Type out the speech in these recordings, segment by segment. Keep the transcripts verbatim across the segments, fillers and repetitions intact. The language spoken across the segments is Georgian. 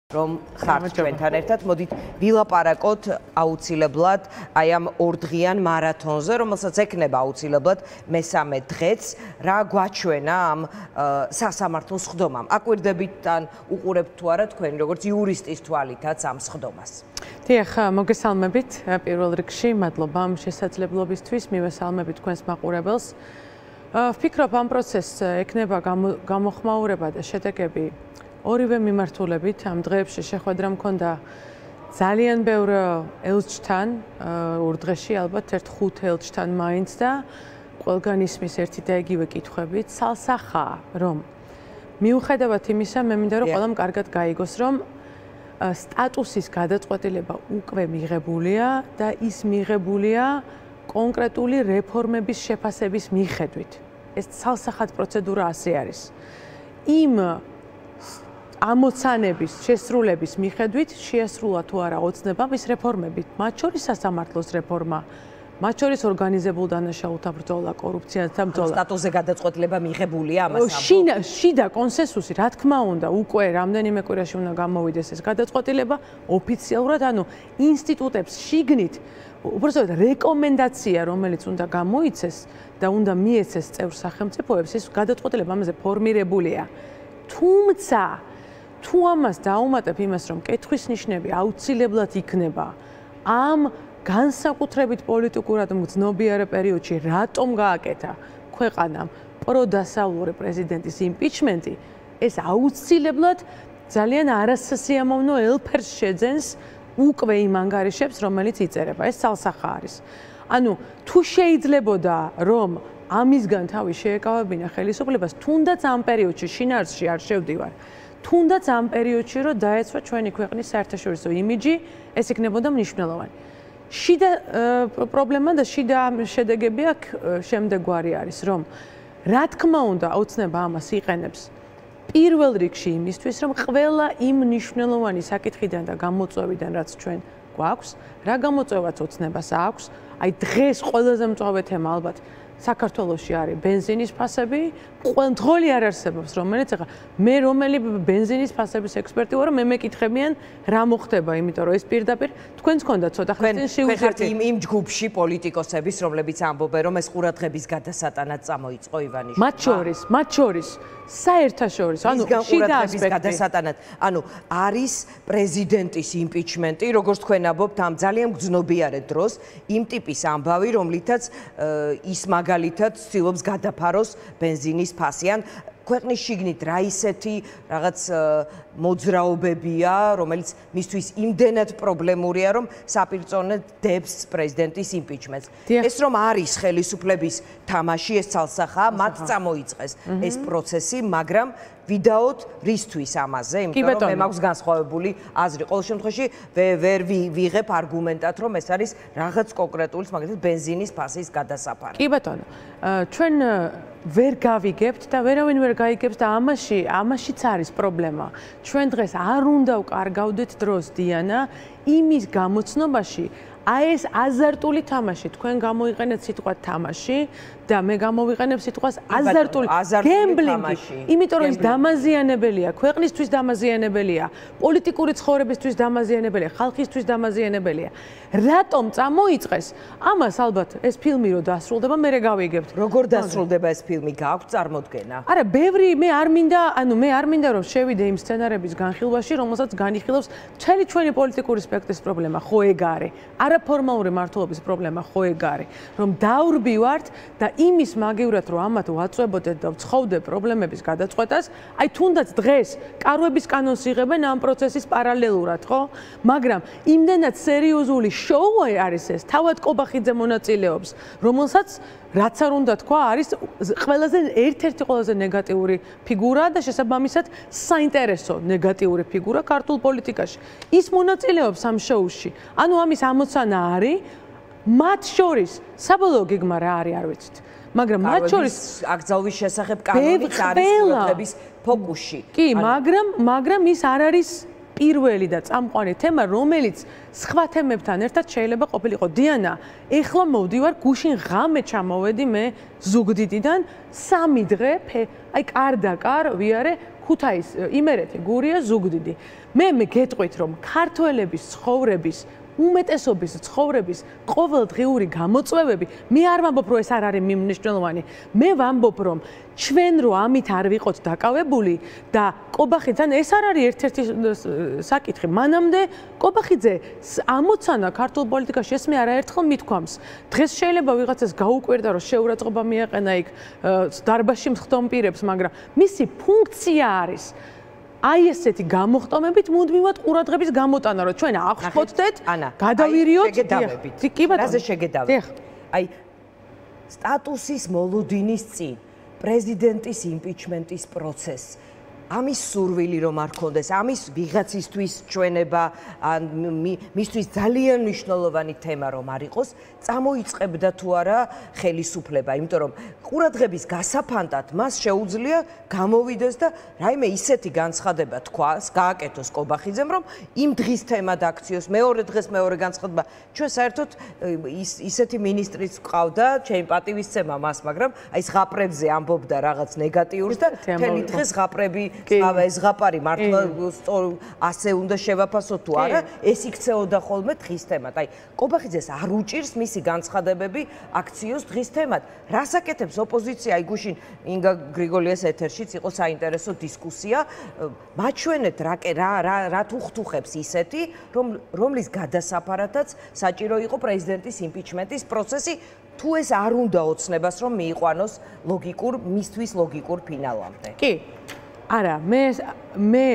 რომ ხართ ჩვენთან ერთად მოდით ვილაპარაკოთ აუცილებლად აი ამ ორდღიან მარათონზე, რომელსაც ექნება აუცილებლად მესამე დღეც, რა გვაჩვენა ამ სასამართლო სხდომამ. აკვირდებიდან უყურებთ თუ არა თქვენ როგორც იურისტის თვალითაც ამ სხდომას. დიახ, მოგესალმებით პირველ რიგში, მადლობა ამ შესაძლებლობისთვის, მივესალმებით თქვენს მაყურებელს. ვფიქრობ ამ პროცესს ექნება გამოხმაურება და შედეგები ორივე მიმართულებით. ამ დღეებში შეხვედრა მქონდა ძალიან ბევრ ელჩთან, ორ დღეში ალბათ ერთ ხუთ ელჩთან მაინც და ყველგან ისმის ერთი და იგივე კითხვებით. სალსახაა, რომ მიუხედავად იმისა, მე მინდა რომ ყველამ კარგად გაიგოს, რომ სტატუსის გადაწყვეტილება უკვე მიღებულია და ის მიღებულია კონკრეტული რეფორმების შეფასების მიხედვით. ეს სალსახად პროცედურა ასე არის. იმ ამოცანების შესრულების მიხედვით შეასრულა თუ არა ოცნება მის რეფორმებით, მათ შორის სასამართლოს რეფორმა, მათ შორის ორგანიზებულ დანაშაულთა ბრძოლა, კორუფციასთან ბრძოლა. სტატუსზე გადაწყვეტილება მიღებულია ამას. შიდა კონსენსუსი, რა თქმა უნდა, უკვე რამდენიმე კვირაში უნდა გამოვიდეს ეს გადაწყვეტილება ოფიციალურად, ანუ ინსტიტუტებს შიგნით უბრალოდ რეკომენდაცია, რომელიც უნდა გამოიცეს და უნდა მიეცეს წევრ სახელმწიფოებს, ეს გადაწყვეტილება ამაზე ფორმირებულია. თუმცა თუ ამას დაუმატებ იმას, რომ კითხვის ნიშნები აუცილებლად იქნება ამ განსაკუთრებით პოლიტიკურად მგრძნობიარე პერიოდში, რატომ გააკეთა ქვეყანამ პროდასავლური პრეზიდენტის იმპიჩმენტი, ეს აუცილებლად ძალიან არასასიამოვნო ელფერს შეძენს უკვე იმ ანგარიშებს, რომელიც იწერება. ეს სალსახა არის. ანუ თუ შეიძლებოდა, რომ ამისგან თავი შეეკავებინა ხელისუფლებას, თუნდაც ამ პერიოდში შინაარსში არ შევდივარ. თუნდაც ამ პერიოდში რომ დაეცვა ჩვენი ქვეყნის საერთაშორისო იმიჯი, ეს იქნებოდა მნიშვნელოვანი. შიდა პრობლემა და შიდა შედეგები აქ შემდეგგვარი არის, რომ რა თქმა უნდა, ოცნება ამას იყენებს პირველ რიგში იმისთვის, რომ ყველა იმ მნიშვნელოვანი საკითხიდან და გამოწვევიდან, რაც ჩვენ გვაქვს, რა გამოწვევაც ოცნებას აქვს, აი დღეს ყველაზე მწვავე თემა ალბათ საქართველოში არის ბენზინის ფასები, ყველმძღოლი არ არსებობს, რომელიც ახლა მე რომელი ბენზინის ფასების ექსპერტი ვარ, მე მეკითხებიან რა მოხდება, იმიტომ რომ ეს პირდაპირ თქვენს გქონდა ცოტა ხნის შევუძერთ იმ იმ ჯგუფში პოლიტიკოსების, რომლებიც ამბობენ, რომ ეს ყურადღების გადასატანად წამოიწყო ივანიშვილი. მათ შორის, მათ შორის საერთაშორისო, ანუ შიდა ასპექტი გადასატანად, ანუ არის პრეზიდენტის იმპიჩმენტი, როგორც თქვენ ამბობთ, ამ ძალიან გრძნობიარე დროს, იმ ტიპის ამბავი, რომლითაც ის მაგალითად ცდილობს გადაფაროს ბენზინის ფასი. ან ქვეყნის შიგნით რა ისეთი რაღაც მოძრაობებია, რომელიც მისთვის იმდენად პრობლემურია, რომ საპირწონედ დებს პრეზიდენტის იმპიჩმენტს. ეს რომ არის ხელისუფლების თამაში, ეს ცალსახაა, მათ წამოიწყეს ეს პროცესი, მაგრამ ვიდაოთ რისთვის ამაზე, იმიტომ რომ მე მაქვს განსხვავებული აზრი. ყოველ შემთხვევაში ვერ ვიღებ არგუმენტად, რომ ეს არის რაღაც კონკრეტული, მაგალითად ბენზინის ფასის გადასაფარი. კი ბატონო, ჩვენ ვერ გავიგებთ და ვერავინ ვერ გაიგებს და ამაში, ამაშიც არის პრობლემა. ჩვენ დღეს არ უნდა ვკარგავდეთ დროს, დიანა, იმის გამოცნობაში, აი ეს აზარტული თამაში, თქვენ გამოიყენეთ სიტყვა თამაში და მე გამოვიყენებ სიტყვას აზარტული გემბლინგი, იმიტომ რომ ის დამაზიანებელია, ქვეყნისთვის დამაზიანებელია, პოლიტიკური ცხოვრებისთვის დამაზიანებელია, ხალხისთვის დამაზიანებელია. რატომ წამოიწყეს? ამას ალბათ ეს ფილმი რო დასრულდება, მე გავიგებთ. როგორ დასრულდება ეს ფილმი? გააქვთ წარმოდგენა? არა, ბევრი მე არ მინდა, ანუ მე არ მინდა რომ შევიდე იმ სცენარების განხილვაში, რომელსაც განიხილავს მთელი ჩვენი პოლიტიკური სპექტრის პრობლემა, ხო ეგ არის. არაფორმალური მართლობის პრობლემა, ხო ეგ არის. რომ დავრბივართ და იმის მაგივრად რომ ამათ ვაწვებოდეთ და ვცხოვდეთ პრობლემების გადაწყვეტას, აი თუნდაც დღეს კარვების კანონს იღებენ ამ პროცესის პარალელურად, ხო? მაგრამ იმდენად სერიოზული შოუ არის ეს, თავად კობახიძე მონაწილეობს, რომელსაც რაც არ უნდა თქვა, არის ყველაზე ერთ-ერთი ყველაზე ნეგატიური ფიგურა და შესაბამისად საინტერესო ნეგატიური ფიგურა ქართულ პოლიტიკაში. ის მონაწილეობს ამ შოუში. ანუ ამის ამოცანა არის, მათ შორის საბოლოო გეგმა რა არის, არ ვიცით. მაგრამ მათ შორის აკრძალვის შესახებ კანონიც არის ყურადღების ფოკუსში. კი, მაგრამ მაგრამ ის არ არის პირველი და წამყვანი თემა, რომელიც სხვა თემებთან ერთად შეიძლება ყოფილიყო. დიანა, ეხლა მოვდივარ გუშინ ღამე ჩამოვედი მე ზუგდიდიდან სამი დღე, აი კარდაკარ ვიარე ქუთაის, იმერეთი, გურია, ზუგდიდი. მე მე გეტყვით რომ ქართველების ცხოვრების უმეტესობის ცხოვრების ყოველდღიური გამოწვევები მე არ ვამბობ რომ ეს არ არის მნიშვნელოვანი მე ვამბობ რომ ჩვენ რო ამით არ ვიყოთ დაკავებული და კობახიძე ეს არ არის ერთ-ერთი საკითხი მანამდე კობახიძე ამოცანა ქართულ პოლიტიკაში ეს მე არაერთხელ მithქვამს დღეს შეიძლება ვიღაცას გაუკვირდა რომ შეურაცხყოფა მიაყენა იქ დარბაზში მხდომ პირებს მაგრამ მისი ფუნქცია არის აი ესეთი გამოხტომებით მუდმივად ყურადღების გამოტანა რომ ჩვენ აღხვდეთ გადავირიოთ კი ბატონო რაზე შეგედავით აი სტატუსის მოლოდინის წინ პრეზიდენტის იმპიჩმენტის პროცესი ამის სურვილი რომ არ ქონდეს ამის ვიღაცისთვის ჩვენება ან მისთვის ძალიან მნიშვნელოვანი თემა რომ არ იყოს წამოიწყებდა თუ არა ხელისუფლება იმიტომ რომ ყურადღების გასაფანტად მას შეუძლია გამოვიდეს და რაიმე ისეთი განცხადება თქვას გააკეთოს კობახიძემ რომ იმ დღის თემად აქციოს მეორე დღეს მეორე განცხადება ჩვენ საერთოდ ისეთი მინისტრიც ყავდა ჩემი პატივისცემა მას მაგრამ აი ზღაპრებზე ამბობდა რაღაც ნეგატიურს და მთელი დღე ზღაპრები აბა ეს ზღაპარი მართლა ასე უნდა შევაფასოთ თუ არა ეს იქცეოდა ხოლმე დღის თემად აი კობახიძეს არ უჭირს მისი განცხადებები აქციოს დღის თემად რას აკეთებს ოპოზიცია აი გუშინ ინგა გრიგოლიას ეთერშიც იყო საინტერესო დისკუსია მაჩვენეთ რა რა რა თუხთუხებს ისეთი რომ რომლის გადასაფარათაც საჭირო იყო პრეზიდენტის იმპიჩმენტის პროცესი თუ ეს არ უნდა ოცნებას რომ მიიყვანოს ლოგიკურ მისთვის ლოგიკურ ფინალამდე კი არა მე მე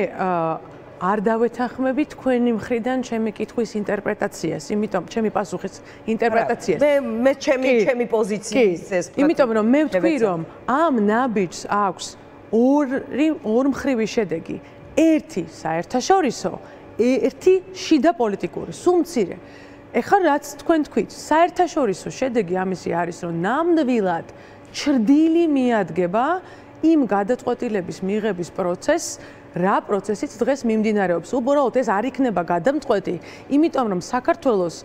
არ დავეთანხმები თქვენი მხრიდან ჩემი კითხვის ინტერპრეტაციას, იმიტომ ჩემი პასუხის ინტერპრეტაციას. მე მე ჩემი ჩემი პოზიციის ეს იმიტომ რომ მე ვთქვი რომ ამ ნაბიჯს აქვს ორი ორმხრივი შედეგი. ერთი საერთაშორისო, ერთი შიდა პოლიტიკური, სულ მცირე. ეხლა რაც თქვენ თქვით, საერთაშორისო შედეგი ამისი არის რომ ნამდვილად ჩრდილი მიადგება იმ გადაწყვეტილების მიღების პროცესს რა პროცესიც დღეს მიმდინარეობს. უბრალოდ ეს არ იქნება გადამწყვეტი, იმიტომ რომ საქართველოს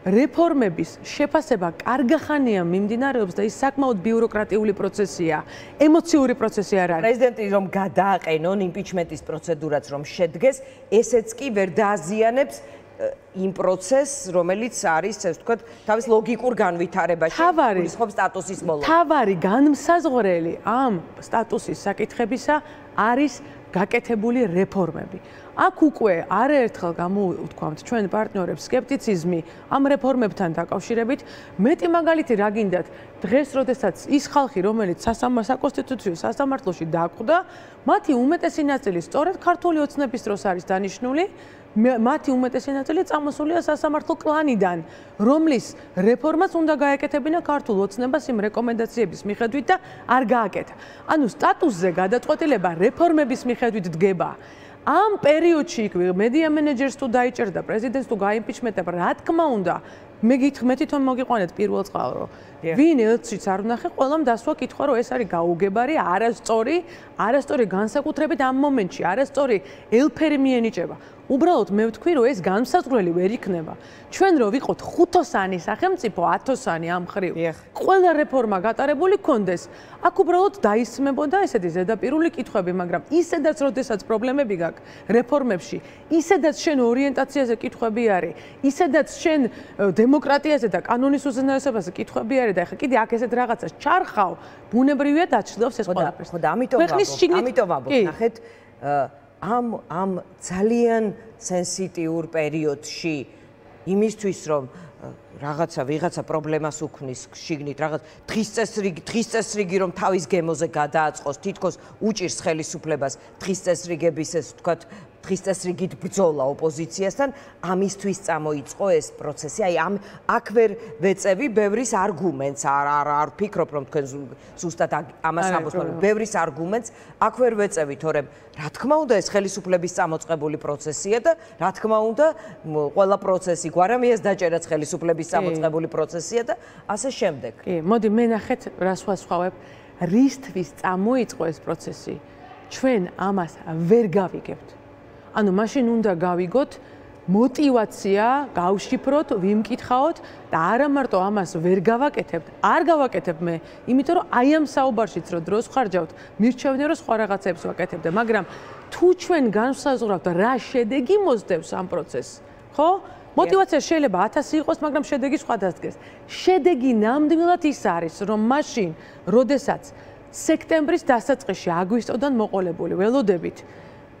რეფორმების შეფასება კარგახანია მიმდინარეობს და ის საკმაოდ ბიუროკრატიული პროცესია, ემოციური პროცესი არ არის. პრეზიდენტი რომ გადააყენონ იმპიჩმენტის პროცედურაც რომ შედგეს, ესეც კი ვერ დააზიანებს იმ პროცესს, რომელიც არის, ასე ვთქვათ, თავის ლოგიკურ განვითარებაში, გულისხმობს სტატუსის მოლოდინს. თავარი განმსაზღვრელი ამ სტატუსის საკითხებისა არის გაკეთებული რეფორმები. აქ უკვე არაერთხელ გამოვთქვამთ ჩვენ პარტნიორებს სკეპტიციზმი ამ რეფორმებთან დაკავშირებით. მეტი მაგალითი რა გინდათ, დღეს როდესაც ის ხალხი, რომელიც საკონსტიტუციო სასამართლოში დაკვდა, მათი უმეტესი ნაწილი სწორედ ქართული ოცნების დროს არის დანიშნული. მათი უმეტესი ნაწილი წამოსულია სასამართლო კლანიდან, რომლის რეფორმაც უნდა გაეკეთებინა ქართულ ოცნებას იმ რეკომენდაციების მიხედვით და არ გააკეთა. ანუ სტატუსზე გადაწყვეტილება რეფორმების მიხედვით დგება. ამ პერიოდში იქ მედია მენეჯერს თუ დაიჭერდა, პრეზიდენტს თუ გაიმპიჩმენტება, რა თქმა უნდა, მე გითხრ მე თვითონ მოგიყვანეთ პირველ წყალრო. ვინ ელჩიც არ ვნახე, ყველამ დასვა კითხვა, რომ ეს არის გაუგებარი, არასწორი, არასწორი განსაკუთრებით ამ მომენტში, არასწორი ელფერი მიენიჭება. უბრალოდ მე ვთქვი, რომ ეს განსაზღვრელი ვერ იქნება. ჩვენ რო ვიყოთ ხუთოსანი სახელმწიფო, ათოსანი ამ ხრივ, ყველა რეფორმა გატარებული კონდეს, აქ უბრალოდ დაისმებოდა ესეთი ზედაპირული კითხვები, მაგრამ ისედაც როდესაც პრობლემები გაქვს რეფორმებში, ისედაც შენ ორიენტაციაზე კითხვები არის, ისედაც შენ დემოკრატიაზე და კანონის უზენაესობაზე კითხვები არის და ეხლა კიდე აქ ესეთ რაღაცას ჩარხავ, ბუნებრივია დაჩლდავს ეს ყველაფერს. ხო და ამიტომ ამიტომ ამბობ, ნახეთ ამ ამ ძალიან სენსიტიურ პერიოდში იმისთვის რომ რაღაცა ვიღაცა პრობლემას უქმნის შიგნით რაღაც დღის წესრიგი დღის წესრიგი რომ თავის გემოზე გადააწყოს თითქოს უჭირს ხელისუფლებას დღის წესრიგების ეს ვთქვათ დღის წესრიგით ბრძოლა ოპოზიციასთან ამისთვის წამოიწყო ეს პროცესი აი ამ აქ ვერ ვეწევი ბევრის არგუმენტს არ არ არ ვფიქრობ რომ თქვენ ზუსტად ამას ამბობთ მაგრამ ბევრის არგუმენტს აქ ვერ ვეწევი თორემ რა თქმა უნდა ეს ხელისუფლების წამოწყებული პროცესია და რა თქმა უნდა ყველა პროცესი გვარამიას დაჭერაც ხელისუფლების წამოწყებული პროცესია და ასე შემდეგ. კი, მოდი მე ნახეთ რა სხვასხვავებ რისთვის წამოიწყო ეს პროცესი. ჩვენ ამას ვერ გავიგებთ. ანუ მაშინ უნდა გავიგოთ мотивация გავშიფროთ, ვიმკითხაოთ და არა მარტო ამას ვერ გავაკეთებთ, არ გავაკეთებ მე, იმიტომ რომ აი ამ საუბარშიც რო დროს ხარჯავთ, მირჩევნია რომ სხვა რაღაცებს ვაკეთებდე, მაგრამ თუ ჩვენ განსაზღვრავთ რა შედეგი მოსდევს ამ პროცესს, ხო? мотивация შეიძლება ათასი იყოს, მაგრამ შედეგი სხვა დასდგეს. შედეგი ნამდვილად ის არის, რომ მაშინ, როდესაც სექტემბრის დასაწყისში აგვისტოდან მოყოლებული ველოდებით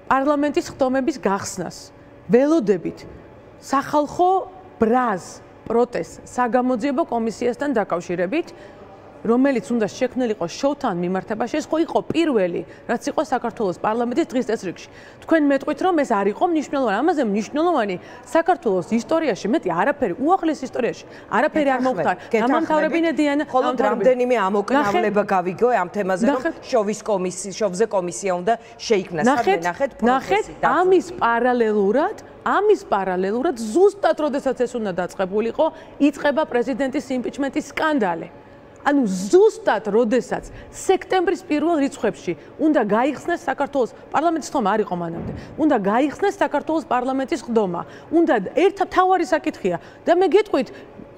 პარლამენტის ხდომების გახსნას, ველოდებით სახალხო ბრაზ პროტესტ საგამოძიებო კომისიასთან დაკავშირებით, რომელიც უნდა შექმნილიყო შოუთან მიმართებაში, ეს ხო იყო პირველი, რაც იყო საქართველოს პარლამენტის დღის წესრიგში. თქვენ მეტყვით, რომ ეს არ იყო მნიშვნელოვანი, ამაზე მნიშვნელოვანი საქართველოს ისტორიაში, მეტი არაფერი, უახლეს ისტორიაში, არაფერი არ მოხდა. დამამთავრებინე დიანა, მხოლოდ რამდენიმე ამოკნავლება გავიგო ამ თემაზე, რომ შოვის კომისია, შოვზე კომისია უნდა შეიქმნას. ნახეთ, ნახეთ, ამის პარალელურად ამის პარალელურად ზუსტად როდესაც ეს უნდა დაწყებულიყო, იწყება პრეზიდენტის იმპიჩმენტის სკანდალი. ანუ ზუსტად როდესაც სექტემბრის პირველ რიცხვებში უნდა გაიხსნას საქართველოს პარლამენტის ხდომა არ იყო მანამდე. უნდა გაიხსნას საქართველოს პარლამენტის ხდომა. უნდა ერთ თავარი საკითხია და მე გეტყვით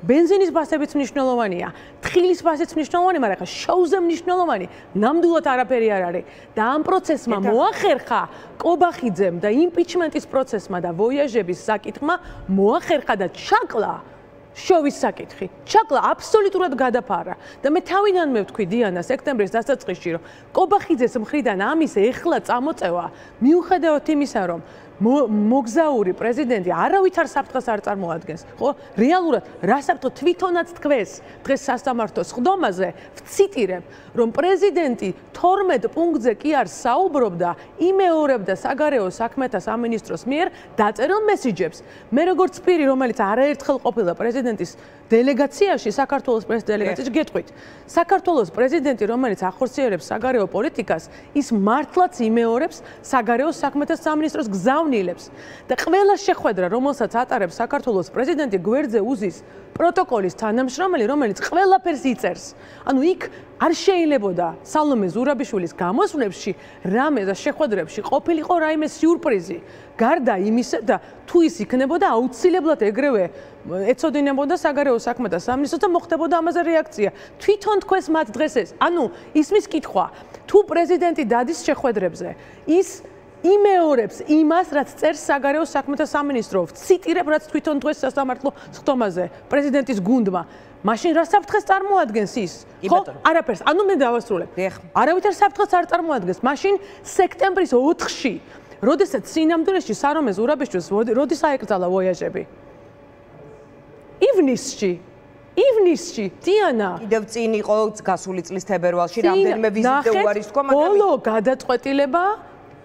бенზინის ბასებიც მნიშვნელოვანია, თხილის ბასიც მნიშვნელოვანია, მაგრამ ხა შოუზე მნიშვნელოვანი ნამდვილად არაფერი არ არის. და ამ პროცესმა მოახერხა კობახიძემ და იმპიჩმენტის პროცესმა და ვოიაჟების საკითხმა მოახერხა და ჩაკლა შოვის საკითხი. ჩაკლა აბსოლუტურად გადაფარა და მე თავიდანვე ვთქვი დიანა სექტემბრის დასაწყისში, რომ კობახიძეს მხრიდან ამის ეხლა წამოწევა მიუხედავად იმისა, რომ მოგზაური პრეზიდენტი არავითარ საფრთხეს არ წარმოადგენს, ხო? რეალურად რა საფრთხე თვითონაც თქვეს დღეს სასამართლოს ხდომაზე, ვციტირებ, რომ პრეზიდენტი თორმეტ პუნქტზე კი არ საუბრობდა, იმეორებდა საგარეო საქმეთა სამინისტროს მიერ დაწერილ მესიჯებს. მე როგორც პირი, რომელიც არაერთხელ ყოფილა პრეზიდენტის დელეგაციაში, საქართველოს პრეზიდენტის დელეგაციაში გეტყვით, საქართველოს პრეზიდენტი, რომელიც ახორციელებს საგარეო პოლიტიკას, ის მართლაც იმეორებს საგარეო საქმეთა სამინისტროს გზავნილებს და ყველა შეხვედრა, რომელსაც ატარებს საქართველოს პრეზიდენტი, გვერდზე უზის პროტოკოლის თანამშრომელი, რომელიც ყველაფერს იწერს. ანუ იქ არ შეიძლებოდა სალომე ზურაბიშვილის გამოსვლებში რამე და შეხვედრებში ყოფილიყო რაიმე სიურპრიზი. გარდა იმისა და თუ ის იქნებოდა აუცილებლად ეგრევე ეცოდინებოდა საგარეო საქმეთა სამინისტროს და მოხდებოდა ამაზე რეაქცია. თვითონ თქვენს მათ დღეს ეს. ანუ ისმის კითხვა, თუ პრეზიდენტი დადის შეხვედრებზე, ის იმეორებს იმას, რაც წერს საგარეო საქმეთა სამინისტრო. ვციტირებ, რაც თვითონ დღეს სასამართლო ხდომაზე პრეზიდენტის გუნდმა. მაშინ რა საფრთხეს წარმოადგენს ის? ხო, არაფერს. ანუ მე დავასრულებ. არავითარ საფრთხეს არ წარმოადგენს. მაშინ სექტემბრის ოთხში, როდესაც სინამდვილეში სარომე ზურაბიშვილს როდის აეკრძალა ვოიაჟები? ივნისში. ივნისში, დიანა. კიდევ წინ იყო გასული წლის თებერვალში რამდენიმე ვიზიტი უარის თქვა, მაგრამ ბოლო გადაწყვეტილება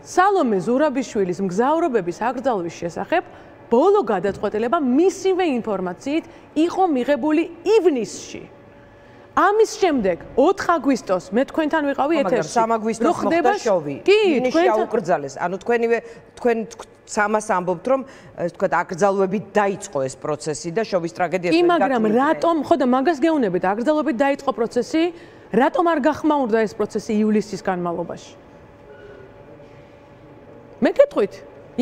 სალომე ზურაბიშვილის მგზავრობების აკრძალვის შესახებ ბოლო გადაწყვეტილება მისივე ინფორმაციით იყო მიღებული ივნისში. ამის შემდეგ ოთხ აგვისტოს მე თქვენთან ვიყავი ეთერში. სამ აგვისტოს მოხდა შოვი. ივნისში აუკრძალეს. ანუ თქვენივე თქვენ სამას ამბობთ, რომ ეს თქვა აკრძალვებით დაიწყო ეს პროცესი და შოვის ტრაგედიას კი, მაგრამ რატომ, ხო და მაგას გეუბნებით, აკრძალვებით დაიწყო პროცესი, რატომ არ გახმაურდა ეს პროცესი ივლისის განმავლობაში? მე გეტყვით,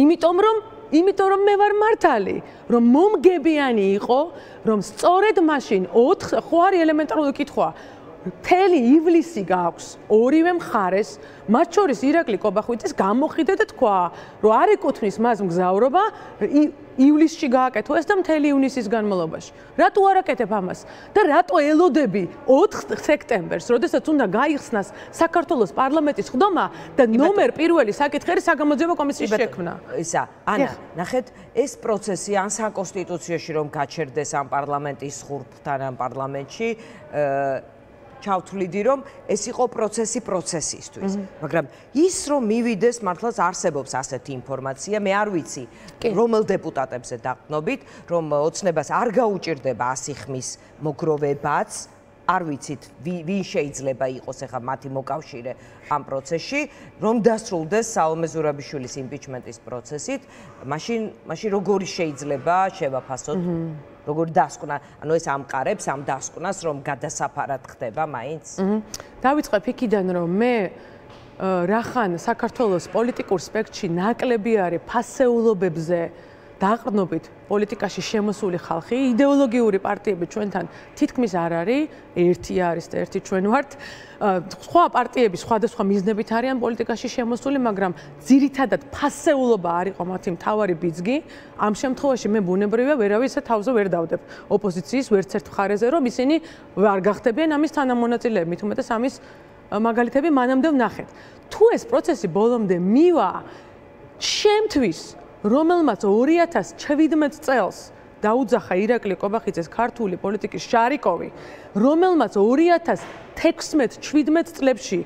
იმიტომ რომ იმიტომ რომ მე ვარ მართალი, რომ მომგებიანი იყო, რომ სწორედ მაშინ ოთხ ხო არის ელემენტარული კითხვა. მთელი ივლისი გააქვს ორივე მხარეს, მათ შორის ირაკლი კობახიძეს გამოხიდა და თქვა, რომ არ ეკუთვნის მას მგზავრობა ივლისში გააკეთო ეს და მთელი ივნისის განმავლობაში. რატო არ აკეთებ ამას? და რატო ელოდები ოთხ სექტემბერს, როდესაც უნდა გაიხსნას საქართველოს პარლამენტის ხდომა და ნომერ პირველი საკითხი არის საგამოძიებო კომისიის შექმნა. ისა, ანა, ნახეთ, ეს პროცესი ან საკონსტიტუციაში რომ გაჩერდეს ამ პარლამენტის ხურფთან ამ პარლამენტში, ჩავთვლიდი, რომ ეს იყო პროცესი პროცესისთვის. მაგრამ ის რომ მივიდეს, მართლაც არსებობს ასეთი ინფორმაცია, მე არ ვიცი, რომელ დეპუტატებზე დაყნობით, რომ ოცნებას არ გაუჭირდება ასი ხმის მოგროვებაც, არ ვიცით, ვინ შეიძლება იყოს ახლა მათი მოკავშირე ამ პროცესში, რომ დასრულდეს სალომე ზურაბიშვილის იმპიჩმენტის პროცესით, მაშინ მაშინ როგორი შეიძლება შევაფასოთ? როგორ დასკვნა, ანუ ეს ამყარებს ამ დასკვნას, რომ გადასაფარად ხდება მაინც? დავიწყებ იქიდან, რომ მე რახან საქართველოს პოლიტიკურ სპექტრში ნაკლები არის ფასეულობებზე დაყრდნობით პოლიტიკაში შემოსული ხალხი, იდეოლოგიური პარტიები ჩვენთან თითქმის არ არის, ერთი არის და ერთი ჩვენ ვართ. სხვა პარტიები სხვადასხვა მიზნებით არიან პოლიტიკაში შემოსული, მაგრამ ძირითადად ფასეულობა არ იყო მათი მთავარი ბიძგი. ამ შემთხვევაში მე ბუნებრივია ვერავის თავზე ვერ დავდებ ოპოზიციის ვერც ერთ მხარეზე, რომ ისინი არ გახდებიან ამის თანამონაწილეები, მით უმეტეს ამის მაგალითები მანამდე ვნახეთ. თუ ეს პროცესი ბოლომდე მივა, ჩემთვის რომელმაც ორი ათას შვიდმეტ წელს დაუძახა ირაკლი კობახიძეს ქართული პოლიტიკის შარიკოვი, რომელმაც ორი ათას თექვსმეტ შვიდმეტ წლებში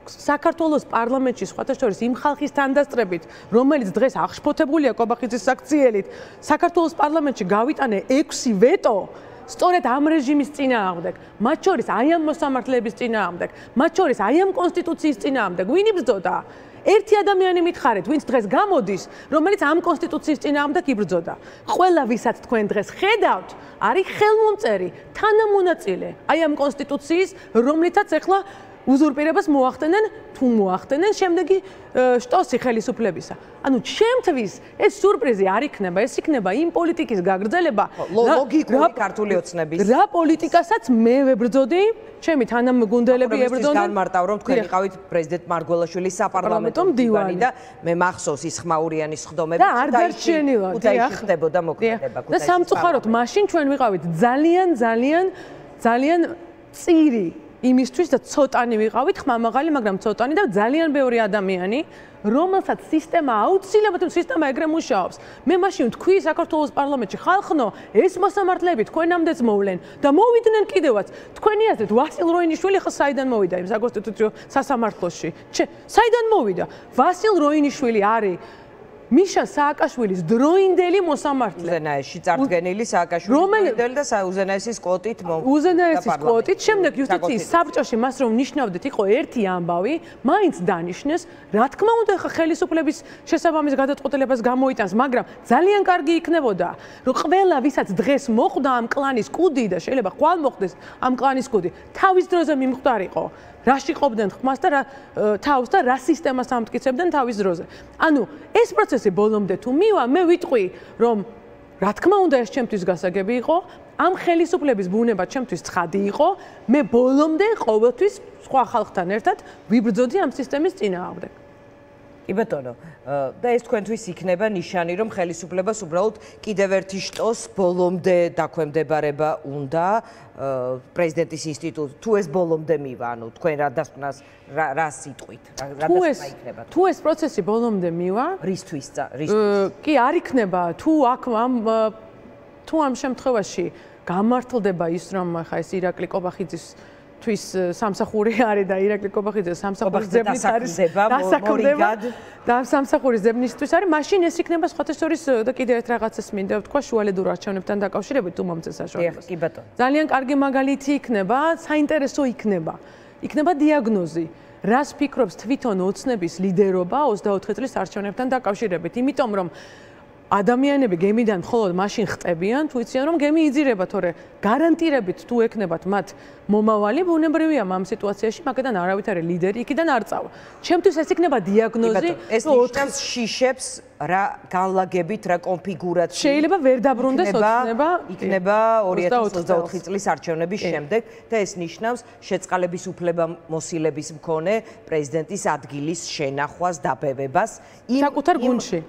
საქართველოს პარლამენტში სხვათა შორის იმ ხალხის თანდასწრებით, რომელიც დღეს აღშფოთებულია კობახიძის საქციელით, საქართველოს პარლამენტში გავიტანე ექვსი ვეტო, სწორედ ამ რეჟიმის წინააღმდეგ, მათ შორის აი ამ მოსამართლეების წინააღმდეგ, მათ შორის აი ამ კონსტიტუციის წინააღმდეგ, ვინ იბრძოდა? ერთი ადამიანი მითხარით, ვინც დღეს გამოდის, რომელიც ამ კონსტიტუციის წინააღმდეგ იბრძოდა. ყველა ვისაც თქვენ დღეს ხედავთ, არის ხელმომწერი, თანამონაწილე აი ამ კონსტიტუციის, რომლითაც ახლა უზურპირებას მოახდენენ, თუ მოახდენენ შემდეგი შტოსი ხელისუფლებისა. ანუ ჩემთვის ეს სურპრიზი არ იქნება, ეს იქნება იმ პოლიტიკის გაგრძელება, ლოგიკური ქართული ოცნების. რა პოლიტიკასაც მე ვებრძოდი, ჩემი თანამგუნდელები ებრძოდნენ. განმარტავ, რომ თქვენ იყავით პრეზიდენტ მარგველაშვილის საპარლამენტო მდივანი და მე მახსოვს ის ხმაურიანის ხდომები და არ დარჩენილად, დიახ, ხდებოდა მოქმედება. და სამწუხაროდ მაშინ ჩვენ ვიყავით ძალიან ძალიან ძალიან წირი იმისთვის და ცოტანი ვიყავით ხმამაღალი, მაგრამ ცოტანი და ძალიან ბევრი ადამიანი, რომელსაც სისტემა აუცილებლად სისტემა ეგრე მუშაობს. მე მაშინ ვთქვი საქართველოს პარლამენტში, ხალხნო, ეს მოსამართლეები თქვენამდეც მოვლენ და მოვიდნენ კიდევაც. თქვენი აზრით, ვასილ როინიშვილი ხა საიდან მოვიდა იმ საკონსტიტუციო სასამართლოში? საიდან მოვიდა? ვასილ როინიშვილი არის მიშა სააკაშვილის დროინდელი მოსამართლე. უზენაესში წარდგენილი სააკაშვილი დროინდელი და უზენაესის კვოტით მომხდარა. უზენაესის კვოტით, შემდეგ იუსტიციის საბჭოში მას რომ ნიშნავდეთ, იყო ერთი ამბავი, მაინც დანიშნეს, რა თქმა უნდა, ხა ხელისუფლების შესაბამის გადაწყვეტილებას გამოიტანს, მაგრამ ძალიან კარგი იქნებოდა, რომ ყველა ვისაც დღეს მოხვდა ამ კლანის კუდი და შეიძლება ხვალ მოხდეს ამ კლანის კუდი, თავის დროზე მიმხვდარიყო. რაში ყოფდნენ ხმას და რა თავს და რა სისტემას ამტკიცებდნენ თავის დროზე. ანუ ეს პროცესი ბოლომდე თუ მივა, მე ვიტყვი, რომ რა თქმა უნდა ეს ჩემთვის გასაგები იყო, ამ ხელისუფლების ბუნება ჩემთვის ცხადი იყო, მე ბოლომდე ყოველთვის სხვა ხალხთან ერთად ვიბრძოდი ამ სისტემის წინააღმდეგ. კი ბატონო, და ეს თქვენთვის იქნება ნიშანი, რომ ხელისუფლებას უბრალოდ კიდევ ერთი შტოს ბოლომდე დაქვემდებარება უნდა პრეზიდენტის ინსტიტუტ, თუ ეს ბოლომდე მივა, ანუ თქვენ რა დასკვნას რა სიტყვით, რა დასკვნა იქნება? თუ ეს პროცესი ბოლომდე მივა, რისთვის რისთვის? კი, არ იქნება, თუ აქ ამ თუ ამ შემთხვევაში გამართლდება ის, რომ ხა ეს ირაკლი კობახიძის თვის სამსახური არის და ირაკლი კობახიძეს სამსახურის ძებნით არის დასაქმდება და სამსახურის ძებნისთვის არის, მაშინ ეს იქნება სხვათა შორის და კიდევ ერთ რაღაცას მინდა ვთქვა შუალედურ არჩევნებთან დაკავშირებით თუ მომწეს საშუალებას. კი ბატონო. ძალიან კარგი მაგალითი იქნება, საინტერესო იქნება. იქნება დიაგნოზი. რას ფიქრობს თვითონ ოცნების ლიდერობა ოცდაოთხი წლის არჩევნებთან დაკავშირებით, იმიტომ რომ ადამიანები გემიდან მხოლოდ მაშინ ხტებიან, თუ იციან რომ გემი იძირება, თორე გარანტირებით თუ ეკნებათ მათ მომავალი, ბუნებრივია ამ სიტუაციაში მაგედან არავითარი ლიდერი იქიდან არ წავა. ჩემთვის ეს იქნება დიაგნოზი, ეს ნიშნავს შიშებს რა განლაგებით, რა კონფიგურაცია შეიძლება ვერ დაბრუნდეს ოცნება იქნება ორი ათას ოცდაოთხი წლის არჩევნების შემდეგ და ეს ნიშნავს შეწყალების უფლებამოსილების მქონე პრეზიდენტის ადგილის შენახვას, დაბევებას იმ საკუთარ გუნდში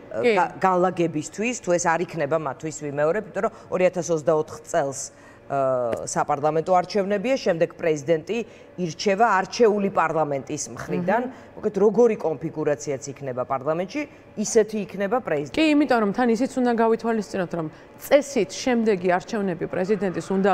განლაგებისთვის, თუ ეს არ იქნება მათთვის ვიმეორებ, იმიტომ რომ ორი ათას ოცდაოთხ წელს საპარლამენტო არჩევნებია, შემდეგ პრეზიდენტი ირჩევა არჩეული პარლამენტის მხრიდან. მოკეთ როგორი კონფიგურაციაც იქნება პარლამენტში, ისეთი იქნება პრეზიდენტი. კი, იმიტომ რომ თან ისიც უნდა გავითვალისწინოთ, რომ წესით შემდეგი არჩევნები პრეზიდენტის უნდა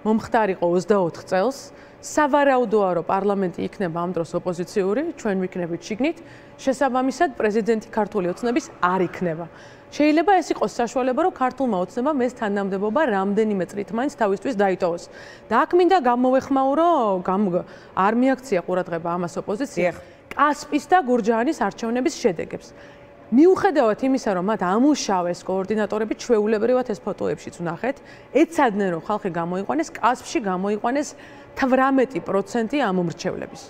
მომხდარიყო ოცდაოთხ წელს. სავარაუდოა, რომ პარლამენტი იქნება ამ დროს ოპოზიციური, ჩვენ ვიქნებით შიგნით, შესაბამისად პრეზიდენტი ქართული ოცნების არ იქნება. შეიძლება ეს იყოს საშუალება, რომ ქართულმა ოცნებამ ეს თანამდებობა რამდენიმე წრით მაინც თავისთვის დაიტოვოს. და აქ მინდა გამოვეხმაურო, არ მიაქცია ყურადღება ამას ოპოზიციამ, კასპის და გურჯაანის არჩევნების შედეგებს. მიუხედავად იმისა, რომ მათ ამუშავეს კოორდინატორები, ჩვეულებრივად ეს ფოტოებშიც ვნახეთ, ეცადნენ, რომ ხალხი გამოიყვანეს, კასპში გამოიყვანეს თვრამეტი პროცენტი ამომრჩევლების.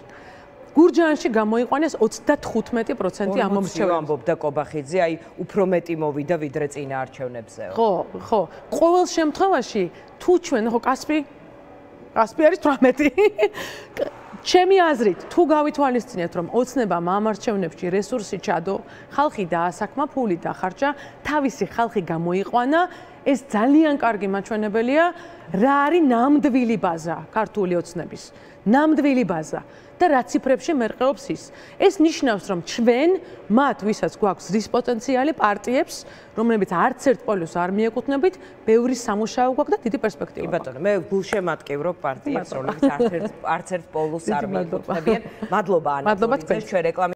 გურჯაანში გამოიყვანეს ოცდათხუთმეტი პროცენტი ამომრჩევლებს. ამბობდა კობახიძე, აი უფრო მეტი მოვიდა ვიდრე წინა არჩევნებზეო. ხო, ხო. ყოველ შემთხვევაში თუ ჩვენ ხო კასპი კასპი არის თვრამეტი. ჩემი აზრით, თუ გავითვალისწინებთ, რომ ოცნებამ ამ არჩევნებში რესურსი ჩადო, ხალხი დაასაქმა, ფული დახარჯა, თავისი ხალხი გამოიყვანა, ეს ძალიან კარგი მაჩვენებელია, რა არის ნამდვილი ბაზა ქართული ოცნების. ნამდვილი ბაზა. და რა ციფრებში მერყეობს ის. ეს ნიშნავს, რომ ჩვენ მათ, ვისაც გვაქვს ზრის პოტენციალი პარტიებს, რომლებიც არც ერთ პოლოს არ მიეკუთვნებით, ბევრი სამუშაო გვაქვს და დიდი პერსპექტივა. კი ბატონო, მე გულშემატკივრობ პარტიებს, რომლებიც არც ერთ არც ერთ პოლოს არ მიეკუთვნებიან. მადლობა ანა. მადლობა თქვენ. ჩვენ რეკლამის